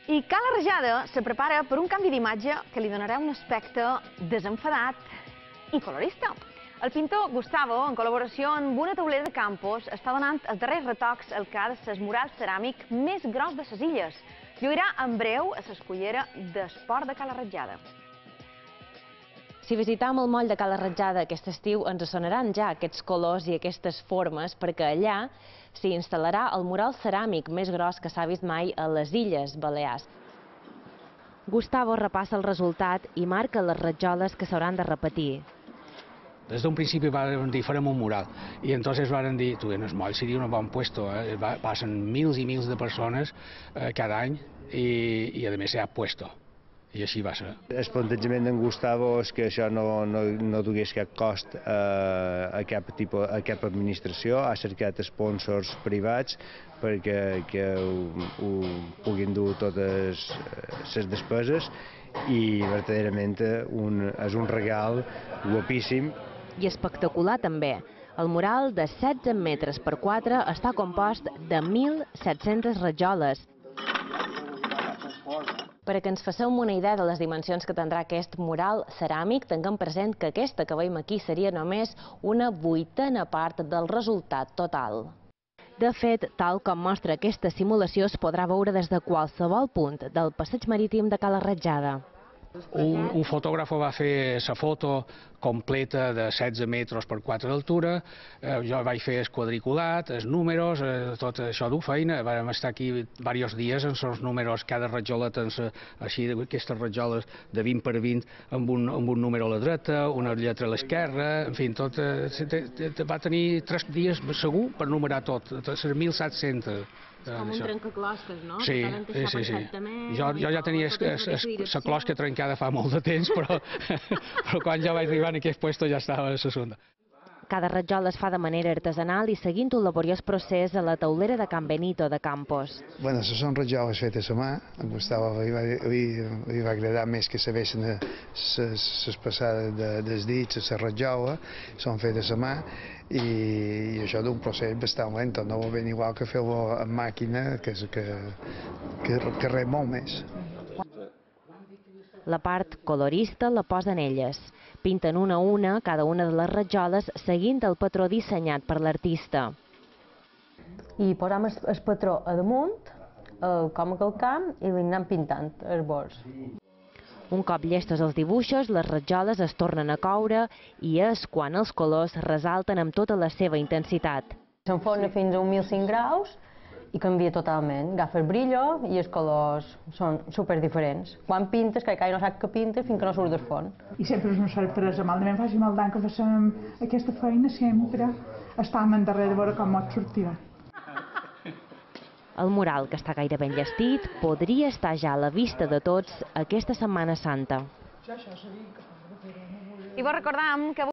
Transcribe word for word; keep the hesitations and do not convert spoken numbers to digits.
I Cala Rajada se prepara per un canvi d'imatge que li donarà un aspecte desenfadat i colorista. El pintor Gustavo, en col·laboració amb una taulera de Campos, està donant els darrers retocs al que ha de ser el mural ceràmic més gros de les illes. Lluirà en breu a l'escullera d'esport de Cala Rajada. Si visitam el moll de Cala Rajada aquest estiu, ens sonaran ja aquests colors i aquestes formes, perquè allà s'hi instal·larà el mural ceràmic més gros que s'ha vist mai a les Illes Balears. Gustavo repassa el resultat i marca les rajoles que s'hauran de repetir. Des d'un principi van dir, farem un mural, i entonces van dir, tu, en el moll seria un bon puesto, eh? Passen mils i mils de persones eh, cada any i, i a més s'ha puesto. I així va ser. El plantejament d'en Gustavo és que això no, no, no dugués cap cost a, a, cap tipus, a cap administració, ha cercat sponsors privats perquè que ho, ho puguin dur totes les despeses i verdaderament un, és un regal guapíssim. I espectacular també. El mural de setze metres per quatre està compost de mil set-centes rajoles. Per a que ens faceu una idea de les dimensions que tindrà aquest mural ceràmic, tinguem present que aquesta que veiem aquí seria només una vuitena part del resultat total. De fet, tal com mostra aquesta simulació, es podrà veure des de qualsevol punt del passeig marítim de Cala Rajada. Un, un fotògraf va fer la foto completa de setze metres per quatre d'altura, eh, jo vaig fer el quadriculat, els números, eh, tot això d'ho feina, vam estar aquí diversos dies en els números, cada rajola tens així, aquestes rajoles de vint per vint amb un, amb un número a la dreta, una lletra a l'esquerra, en fi, tot, eh, va tenir tres dies segur per numerar tot, les mil set-centes. És com un trencaclosques, no? Sí, sí, sí, sí. Jo, jo ja tenia la closca trencada fa molt de temps, però, però quan jo vaig arribar en aquest lloc ja estava a la segunda. Cada rajola es fa de manera artesanal i seguint un laboriós procés a la taulera de Can Benito de Campos. Bueno, són rajoles fetes a mà. A Gustavo li va, li, li va agradar més que sabessin les passades de, dels dits, les rajoles, són fetes a mà i, i això d'un procés bastant lent, no va ben igual que fer-ho amb màquina, que, que, que, que res molt més. La part colorista la posen elles. Pinten una a una cada una de les rajoles seguint el patró dissenyat per l'artista. I posam el, el patró a damunt, el, com a calcam, i li anem pintant els bords. Un cop llestos els dibuixos, les rajoles es tornen a coure i és quan els colors resalten amb tota la seva intensitat. S'enforna fins a mil cinc graus i canvia totalment. Agafa el brillo i els colors són super diferents. Quan pintes, que no sap que pinta fins que no surt del forn. I sempre és una sorpresa, malament faci mal d'any que fem aquesta feina, sempre estàvem endarrere de veure com et sortirà. El mural, que està gairebé enllestit, podria estar ja a la vista de tots aquesta Setmana Santa. I vos recordam que